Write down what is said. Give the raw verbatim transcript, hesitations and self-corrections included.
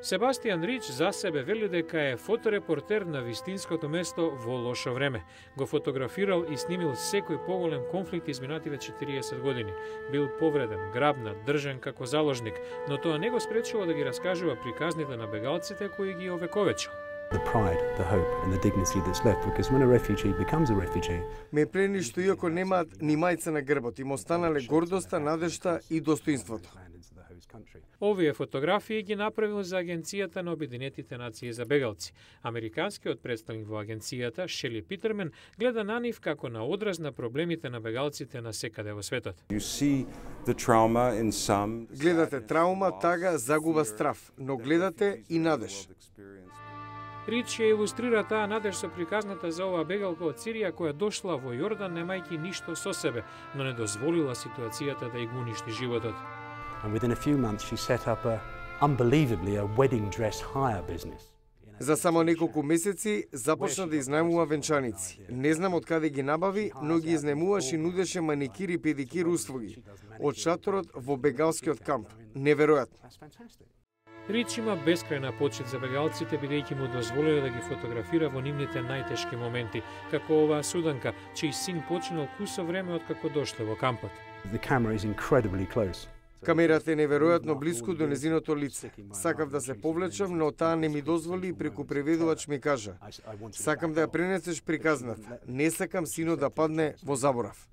Себастијан Рич за себе вели дека е фоторепортер на вистинското место во лошо време. Го фотографирал и снимил секој поголем конфликт изминативе четириесет години. Бил повреден, грабнат, држан како заложник, но тоа не го спречило да ги раскажува приказните на бегалците кои ги овековечил. The pride, the hope and the dignity that's left, because when a refugee becomes a refugee, ме прени што иако немаат ни мајца на грбот, им останале гордоста, надежта и достоинството. Овие фотографии ги направил за Агенцијата на Обединетите нации за бегалци. Американскиот представник во агенцијата, Шели Питермен, гледа на нив како на одраз на проблемите на бегалците на секаде во светот. Гледате траума, тага, загуба, страв, но гледате и надеж. Рич ја илустрира таа надеж со приказната за оваа бегалка од Сирија која дошла во Јордан немајќи ништо со себе, но не дозволила ситуацијата да ја го уништи животот. and within a few months she set up a, unbelievably, a wedding dress hire business. За само неколку месеци започна да изнајмува венчаници. Не знам од каде ги набави, но ги изнемуваше и нудеше маникир и педикир услуги од шаторот во бегалскиот камп. Неверојатно. Рич има бескрајна почит за бегалците, бидејќи му дозволиле да ги фотографира во нивните најтешки моменти, како оваа суданка, чиј син починал кусо време од како дошле во кампот. The camera is incredibly close. Камерата е неверојатно близко до незиното лице. Сакав да се повлечам, но таа не ми дозволи и преку преведувач ми кажа: "Сакам да ја пренесеш приказната. Не сакам синот да падне во заборав."